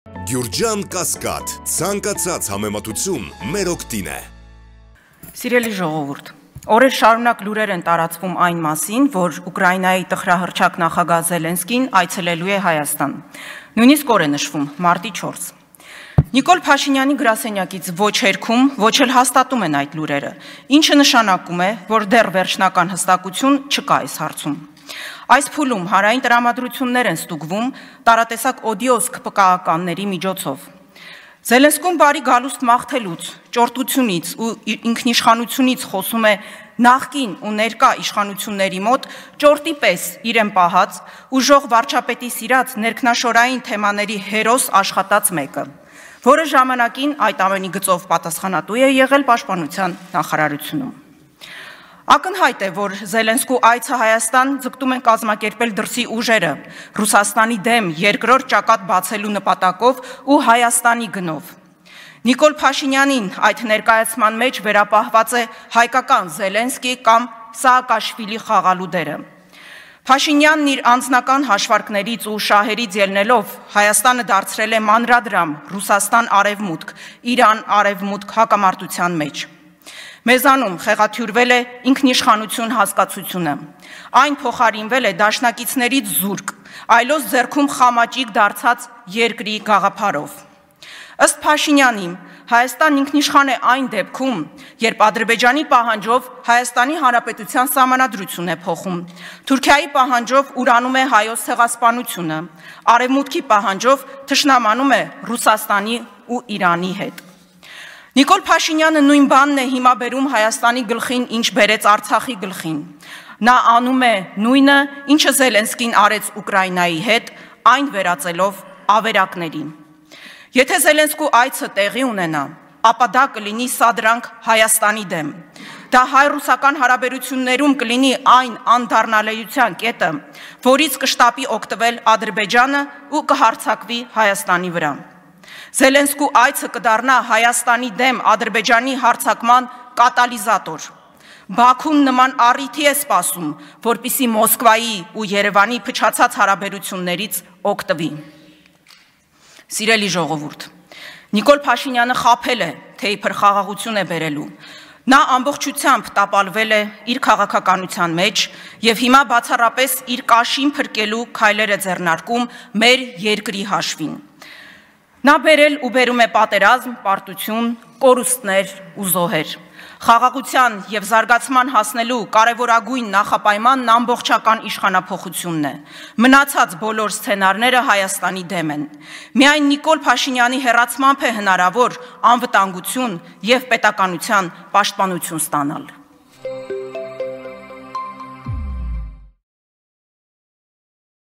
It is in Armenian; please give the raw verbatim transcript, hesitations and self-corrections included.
Գյուրջան Կասկադ, ցանկացած համեմատություն մեր օգտին է։ Սիրելի ժողովուրդ, օրեր շարունակ լուրեր են տարածվում այն մասին, որ Ուկրաինայի տխրահռչակ նախագահ Զելենսկին այցելելու է Հայաստան։ Նույնիսկ օր է նշվում մարտի չորս։ Նիկոլ Փաշինյանի գրասենյակից ոչ հերքում, ոչ էլ հաստատում են այդ լուրերը, ինչը նշանակում է, որ դեռ վերջնական հստակություն չկա այս հարցում։ Այս փուլում հանրային տրամադրություններ են ստուգվում տարատեսակ օդիոս քպկականների միջոցով։ Զելենսկուն բարի գալուստ մաղթելուց, ճորտությունից ու ինքնիշխանությունից խոսում է նախկին ու ներկա իշխանությունների մոտ ճորտի պես իրեն պահած, ուժող վարչապետի սիրած ներքնաշորային թեմաների հերոս աշխատած մեկը, որը ժամանակին այդ ամենի գծով պատասխանատու է եղել պաշտպանության նախարարությունում։ Ակնհայտ է, որ Զելենսկու այցը Հայաստան ձգտում են կազմակերպել դրսի ուժերը Ռուսաստանի դեմ երկրորդ ճակատ բացելու նպատակով ու Հայաստանի գնով։ Նիկոլ Փաշինյանին այդ ներկայացման մեջ վերապահված է հայկական Զելենսկի կամ Սաակաշվիլի խաղալու դերը։ Փաշինյանն իր անձնական հաշվարկներից ու շահերից ելնելով Հայաստանը դարձրել է մանրադրամ Ռուսաստան-արևմուտք, Իրան-արևմուտք հակամարտության մեջ։ Մեզանում խեղաթյուրվել է ինքնիշխանություն հասկացությունը, այն փոխարինվել է դաշնակիցներից զուրկ, այլոց ձեռքում խամաճիկ դարձած երկրի գաղափարով։ Ըստ Փաշինյանի, Հայաստան ինքնիշխան է այն դեպքում, երբ Ադրբեջանի պահանջով Հայաստանի Հանրապետության սահմանադրություն է փոխում, Թուրքիայի պահանջով ուրանում է հայոց ցեղասպանությունը, Արևմուտքի պահանջով թշնամանում է Ռուսաստանի ու Իրանի հետ։ Նիկոլ Փաշինյանը նույն բանն է հիմա բերում Հայաստանի գլխին, ինչ բերեց Արցախի գլխին։ Նա անում է նույնը, ինչը Զելենսկին արեց Ուկրաինայի հետ, այն վերածելով ավերակների։ Եթե Զելենսկու այցը տեղի ունենա, ապա դա կլինի սադրանք Հայաստանի դեմ։ Դա հայ-ռուսական հարաբերություններում կլինի այն անդառնալիության կետը, որից կշտապի օգտվել Ադրբեջանը ու կհարձակվի Հայաստանի վրա։ Զելենսկու այցը կդառնա Հայաստանի դեմ Ադրբեջանի հարձակման կատալիզատոր։ Բաքուն նման առիթի է սպասում, որպիսի Մոսկվայի ու Երևանի փչացած հարաբերություններից օգտվի։ Սիրելի ժողովուրդ, Նիկոլ Փաշինյանը խաբել է, թե իբր խաղաղություն է բերելու։ Նա ամբողջությամբ տապալվել է իր քաղաքականության մեջ եւ հիմա բացառապես իր կաշին փրկելու քայլեր է ձեռնարկում մեր երկրի հաշվին։ Նա բերել ու բերում է պատերազմ, պարտություն, կորուստներ ու զոհեր։ Խաղաղության եւ զարգացման հասնելու կարևորագույն նախապայմանն ամբողջական իշխանափոխությունն է։ Մնացած բոլոր սցենարները Հայաստանի դեմ են։ Միայն Նիկոլ Փաշինյանի հեռացմամբ է հնարավոր անվտանգություն եւ պետականության պաշտպանություն ստանալ։